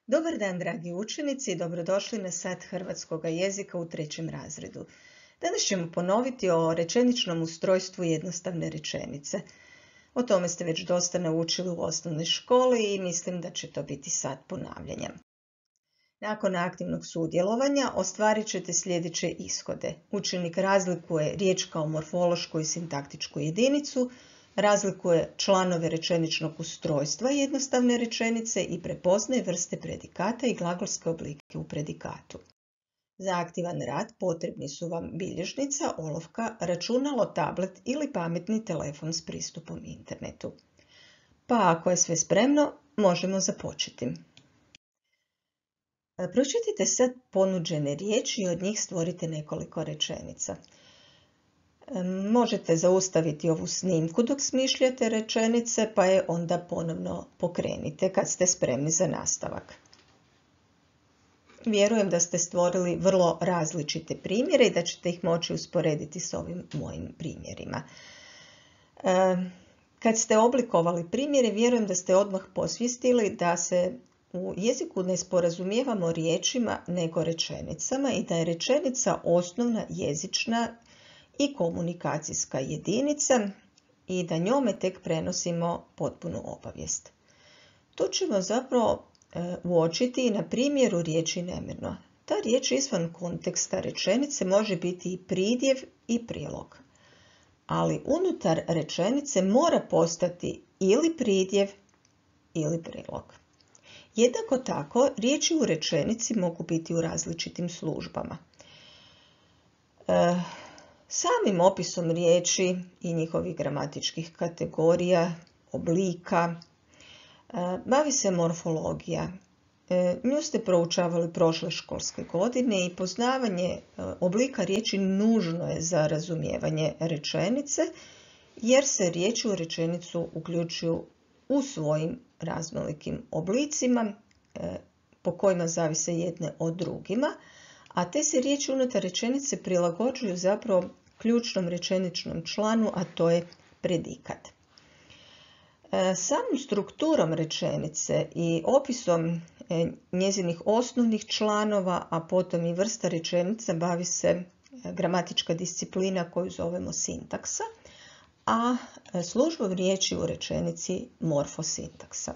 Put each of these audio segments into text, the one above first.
Dobar dan, dragi učenici, i dobrodošli na sat hrvatskog jezika u 3. razredu. Danas ćemo ponoviti o rečeničnom ustrojstvu jednostavne rečenice. O tome ste već dosta naučili u osnovnoj školi i mislim da će to biti sat ponavljanja. Nakon aktivnog sudjelovanja ostvarit ćete sljedeće ishode. Učenik razlikuje riječ kao morfološku i sintaktičku jedinicu, razlikuje članove rečeničnog ustrojstva jednostavne rečenice i prepoznaje vrste predikata i glagolske oblike u predikatu. Za aktivan rad potrebni su vam bilježnica, olovka, računalo, tablet ili pametni telefon s pristupom internetu. Pa ako je sve spremno, možemo započeti. Pročitajte sad ponuđene riječi i od njih stvorite nekoliko rečenica. Možete zaustaviti ovu snimku dok smišljate rečenice, pa je onda ponovno pokrenite kad ste spremni za nastavak. Vjerujem da ste stvorili vrlo različite primjere i da ćete ih moći usporediti s ovim mojim primjerima. Kad ste oblikovali primjere, vjerujem da ste odmah posvijestili da se u jeziku ne sporazumijevamo riječima nego rečenicama i da je rečenica osnovna jezična i komunikacijska jedinica i da njome tek prenosimo potpunu obavijest. To ćemo zapravo uočiti i na primjeru riječi nemirno. Ta riječ izvan konteksta rečenice može biti i pridjev i prilog, ali unutar rečenice mora postati ili pridjev ili prilog. Jednako tako, riječi u rečenici mogu biti u različitim službama. Samim opisom riječi i njihovih gramatičkih kategorija, oblika, bavi se morfologija. Nju ste proučavali prošle školske godine i poznavanje oblika riječi nužno je za razumijevanje rečenice, jer se riječi u rečenicu uključuju u svojim raznolikim oblicima po kojima zavise jedne od drugima, a te se riječi unutar rečenice prilagođuju zapravo ključnom rečeničnom članu, a to je predikat. Samom strukturom rečenice i opisom njezinih osnovnih članova, a potom i vrsta rečenica, bavi se gramatička disciplina koju zovemo sintaksa, a službom riječi u rečenici morfosintaksa.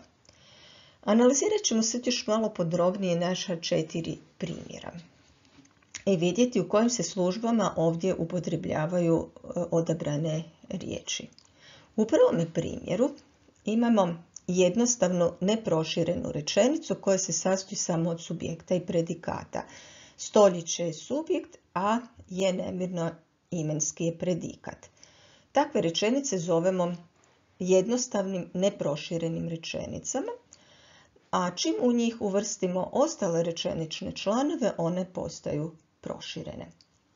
Analizirat ćemo sad još malo podrobnije naša 4 primjera i vidjeti u kojim se službama ovdje upotrebljavaju odabrane riječi. U prvom primjeru imamo jednostavnu neproširenu rečenicu koja se sastoji samo od subjekta i predikata. Stoljeće je subjekt, a je nemirno imenski je predikat. Takve rečenice zovemo jednostavnim neproširenim rečenicama, a čim u njih uvrstimo ostale rečenične članove, one postaju proširene.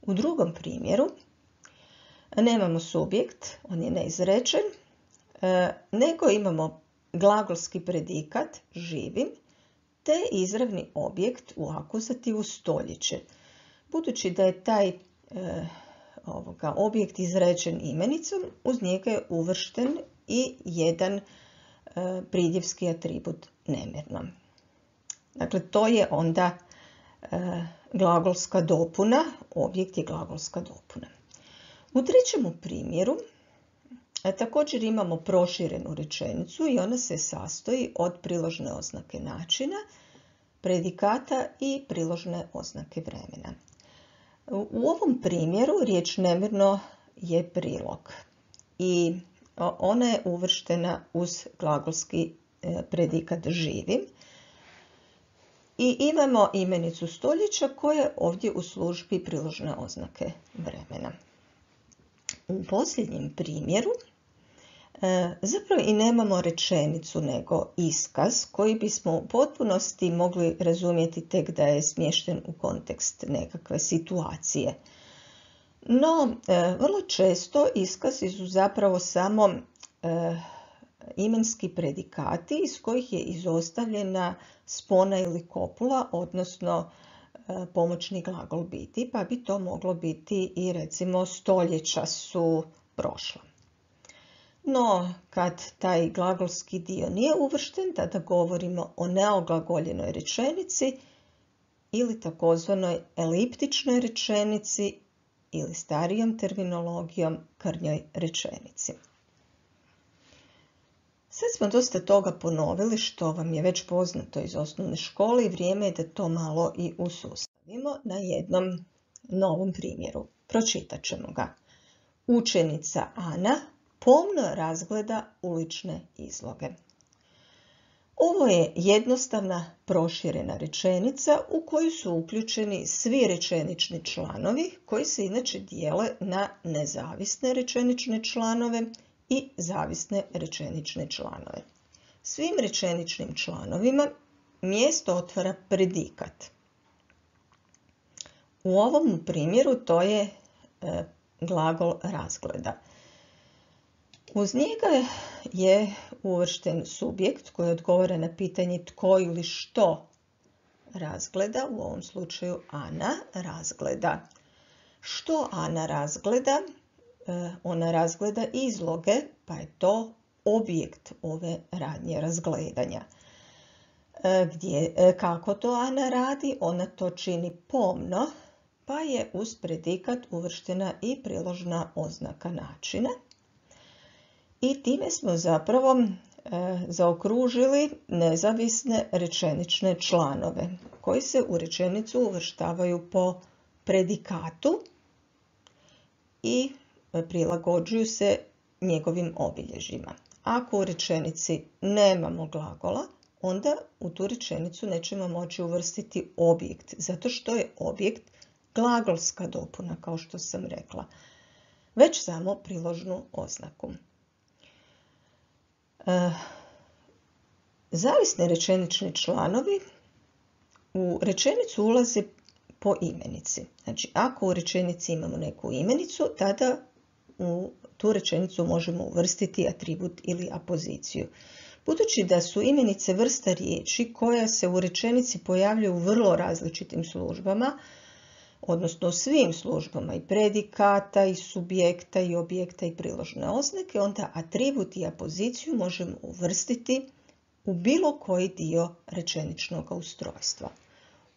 U drugom primjeru nemamo subjekt, on je neizrečen, nego imamo glagolski predikat živim te izravni objekt u akuzativu stoljeće. Budući da je taj objekt izrečen imenicom, uz njega je uvršten i jedan pridjevski atribut nemirno. Dakle, to je onda glagolska dopuna, objekt je glagolska dopuna. U trećem primjeru također imamo proširenu rečenicu i ona se sastoji od priložne oznake načina, predikata i priložne oznake vremena. U ovom primjeru riječ nemirno je prilog i ona je uvrštena uz glagolski predikat živim i imamo imenicu stoljeća koja je ovdje u službi priložne oznake vremena. U posljednjem primjeru zapravo i nemamo rečenicu nego iskaz koji bismo u potpunosti mogli razumjeti tek da je smješten u kontekst nekakve situacije. No, vrlo često iskazi su zapravo samo imenski predikati iz kojih je izostavljena spona ili kopula, odnosno pomoćni glagol biti, pa bi to moglo biti i recimo stoljeća su prošla. No, kad taj glagolski dio nije uvršten, tada govorimo o neoglagoljenoj rečenici ili takozvanoj eliptičnoj rečenici ili starijom terminologijom krnjoj rečenici. Sad smo dosta toga ponovili što vam je već poznato iz osnovne škole i vrijeme je da to malo i usustavimo na jednom novom primjeru. Pročitat ćemo ga. Učenica Ana pomno razgleda ulične izloge. Ovo je jednostavna proširena rečenica u koju su uključeni svi rečenični članovi koji se inače dijele na nezavisne rečenične članove i zavisne rečenične članove. Svim rečeničnim članovima mjesto otvara predikat. U ovom primjeru to je glagol razgleda. Uz njega je uvršten subjekt koji odgovara na pitanje tko ili što razgleda, u ovom slučaju Ana razgleda. Što Ana razgleda? Ona razgleda izloge, pa je to objekt ove radnje razgledanja. Kako to Ana radi? Ona to čini pomno, pa je uz predikat uvrštena i priložna oznaka načina. I time smo zapravo zaokružili nezavisne rečenične članove koji se u rečenicu uvrštavaju po predikatu i prilagođuju se njegovim obilježjima. Ako u rečenici nemamo glagola, onda u tu rečenicu nećemo moći uvrstiti objekt, zato što je objekt glagolska dopuna, kao što sam rekla, već samo priložnu oznaku. Zavisni rečenični članovi u rečenicu ulaze po imenici. Znači, ako u rečenici imamo neku imenicu, tada u tu rečenicu možemo uvrstiti atribut ili apoziciju. Budući da su imenice vrsta riječi koja se u rečenici pojavljaju u vrlo različitim službama, odnosno u svim službama i predikata, i subjekta, i objekta, i priložne oznake, onda atribut i apoziciju možemo uvrstiti u bilo koji dio rečeničnog ustrojstva.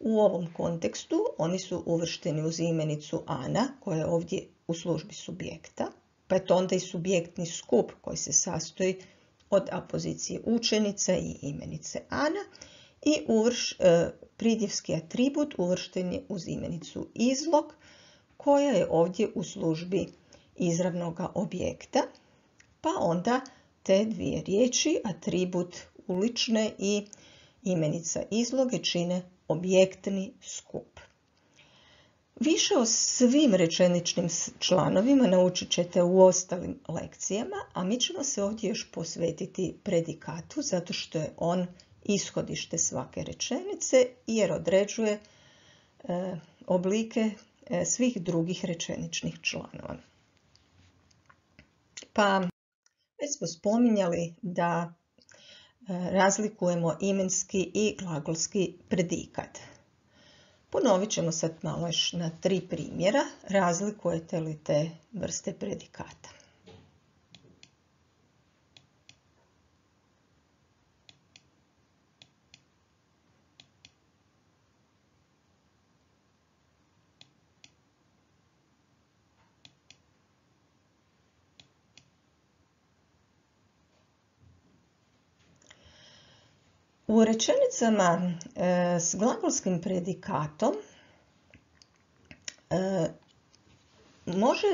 U ovom kontekstu oni su uvršteni uz imenicu Ana, koja je ovdje u službi subjekta, pa je to onda i subjektni skup koji se sastoji od apozicije učenica i imenice Ana, i pridjevski atribut uvršten je uz imenicu izlog, koja je ovdje u službi izravnog objekta, pa onda te dvije riječi, atribut ulične i imenica izloge, čine objektni skup. Više o svim rečeničnim članovima naučit ćete u ostalim lekcijama, a mi ćemo se ovdje još posvetiti predikatu, zato što je on ishodište svake rečenice jer određuje oblike svih drugih rečeničnih članova. Pa već smo spominjali da razlikujemo imenski i glagolski predikat. Ponovit ćemo sad malo još na 3 primjera. Razlikujete li te vrste predikata? U rečenicama s glagolskim predikatom može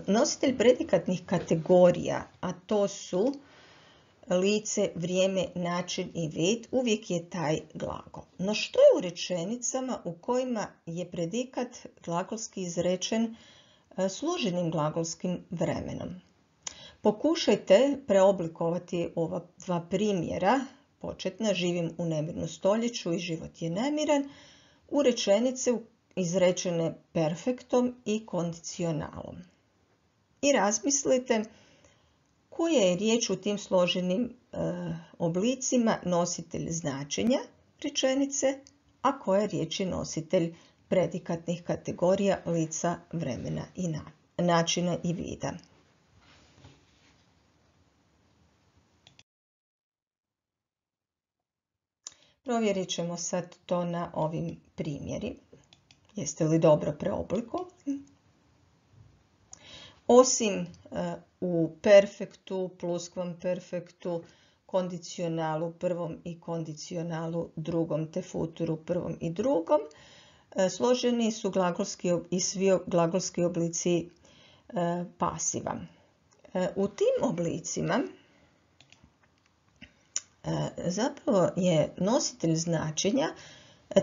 nositelj predikatnih kategorija, a to su lice, vrijeme, način i vid, uvijek je taj glagol. No što je u rečenicama u kojima je predikat glagolski izrečen složenim glagolskim vremenom? Pokušajte preoblikovati ova 2 primjera, početna, živim u nemirnom stoljeću i život je nemiran, u rečenice izrečene perfektom i kondicionalom. I razmislite koja je riječ u tim složenim oblicima nositelj značenja rečenice, a koja riječ je nositelj predikatnih kategorija lica, vremena i načina i vida. Provjerit ćemo sad to na ovim primjerima. Jeste li dobro preoblikovali? Osim u perfektu, pluskvamperfektu, kondicionalu prvom i kondicionalu drugom te futuru prvom i drugom, složeni su glagolski i svi glagolski oblici pasiva. U tim oblicima zapravo je nositelj značenja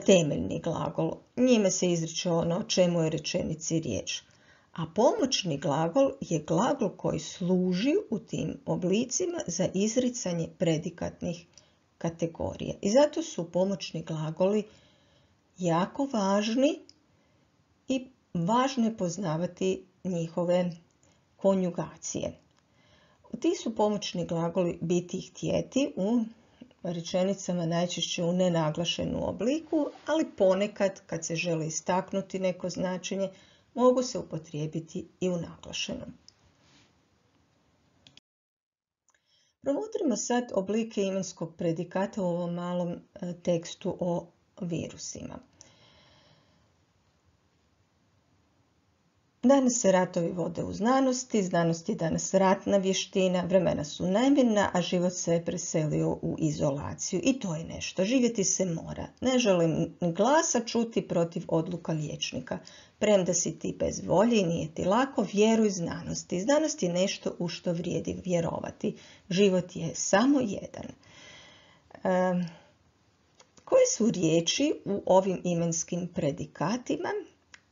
temeljni glagol. Njime se izriče ono o čemu je rečenici riječ. A pomoćni glagol je glagol koji služi u tim oblicima za izricanje predikatnih kategorija. I zato su pomoćni glagoli jako važni i važno je poznavati njihove konjugacije. Ti su pomoćni glagoli biti i htjeti u rečenicama najčešće u nenaglašenom obliku, ali ponekad kad se želi istaknuti neko značenje, mogu se upotrijebiti i u naglašenom. Promotrimo sad oblike imenskog predikata u ovom malom tekstu o virusima. Danas se ratovi vode u znanosti, znanost je danas ratna vještina, vremena su nemirna, a život se je preselio u izolaciju. I to je nešto, živjeti se mora. Ne želim glasa čuti protiv odluka liječnika. Premda si ti bez volje i nije ti lako, vjeruj znanosti. Znanost je nešto u što vrijedi vjerovati. Život je samo jedan. Koje su riječi u ovim imenskim predikatima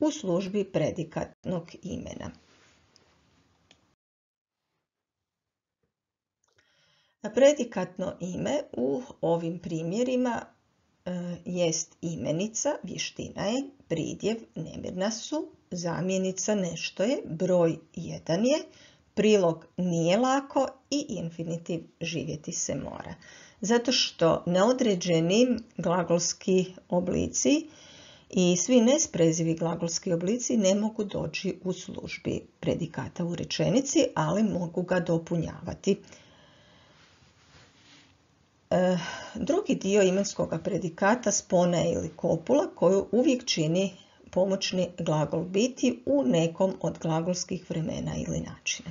u službi predikatnog imena? Predikatno ime u ovim primjerima jest imenica, vještina je, pridjev, nemirna su, zamjenica, nešto je, broj, jedan je, prilog, nije lako i infinitiv, živjeti se mora. Zato što neodređeni glagolski oblici i svi nesprezivi glagolski oblici ne mogu doći u službi predikata u rečenici, ali mogu ga dopunjavati. Drugi dio imenskog predikata spona je ili kopula koju uvijek čini pomoćni glagol biti u nekom od glagolskih vremena ili načina.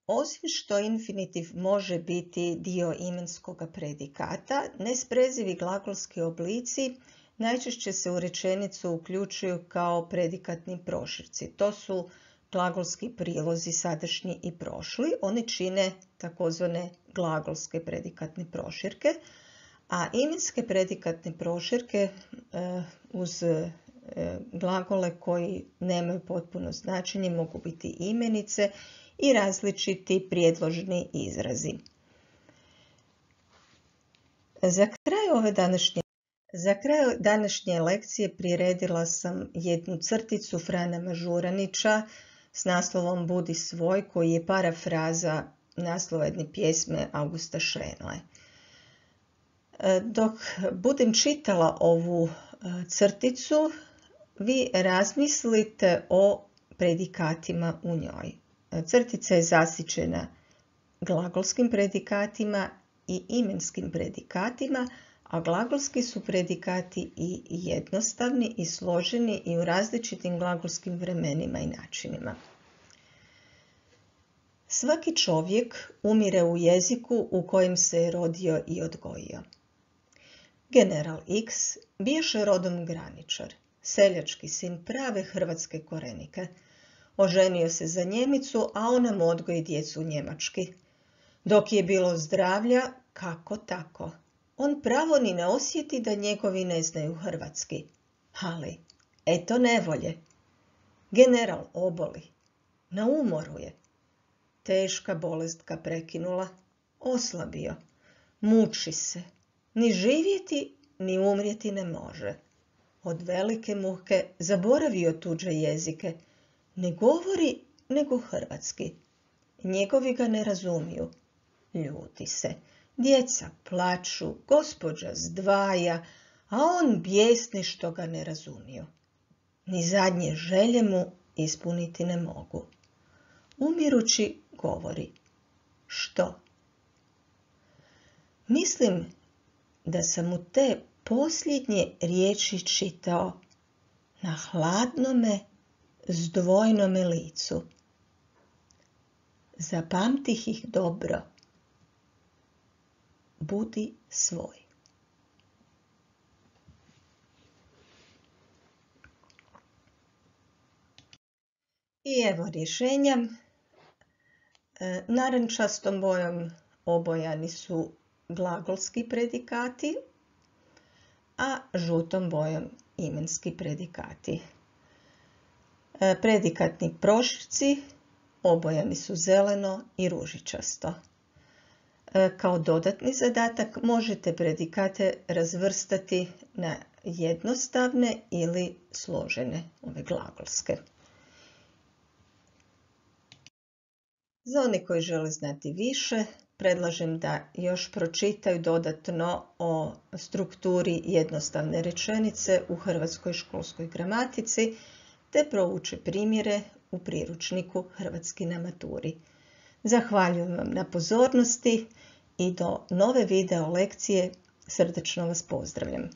Osim što infinitiv može biti dio imenskog predikata, nesprezivi glagolski oblici najčešće se u rečenicu uključuju kao predikatni proširci. To su glagolski prilozi sadašnji i prošli. Oni čine takozvane glagolske predikatne proširke, a imenske predikatne proširke uz glagole koji nemaju potpuno značenje mogu biti imenice i različiti prijedložni izrazi. Za kraj današnje lekcije priredila sam jednu crticu Frana Mažuranića s naslovom Budi svoj, koji je parafraza naslova jedne pjesme Augusta Šenoe. Dok budem čitala ovu crticu, vi razmislite o predikatima u njoj. Crtica je zasićena glagolskim predikatima i imenskim predikatima, a glagolski su predikati i jednostavni i složeni i u različitim glagolskim vremenima i načinima. Svaki čovjek umire u jeziku u kojem se je rodio i odgojio. General X biješe rodom graničar, seljački sin prave hrvatske korenike. Oženio se za Njemicu, a ona mu odgoji djecu njemački. Dok je bilo zdravlja, kako tako. On pravo ni ne osjeti da njegovi ne znaju hrvatski. Ali, eto nevolje. General oboli. Na umoru je. Teška bolest ga prekinula. Oslabio. Muči se. Ni živjeti, ni umrijeti ne može. Od velike muke zaboravio tuđe jezike. Ne govori nego hrvatski. Njegovi ga ne razumiju. Ljuti se. Djeca plaču, gospođa zdvaja, a on bijesni što ga ne razumiju. Ni zadnje želje mu ispuniti ne mogu. Umirući govori. Što? Mislim da sam mu te posljednje riječi čitao na hladnome, zdvojnome licu. Zapamtih ih dobro. Budi svoj. I evo rješenja. Narančastom bojom obojani su glagolski predikati, a žutom bojom imenski predikati. Predikatni proširci obojani su zeleno i ružičasto. Kao dodatni zadatak možete predikate razvrstati na jednostavne ili složene, ove glagolske. Za one koji žele znati više, predlažem da još pročitaju dodatno o strukturi jednostavne rečenice u hrvatskoj školskoj gramatici, te prouče primjere u priručniku Hrvatski na maturi. Zahvaljujem vam na pozornosti i do nove video lekcije srdačno vas pozdravljam.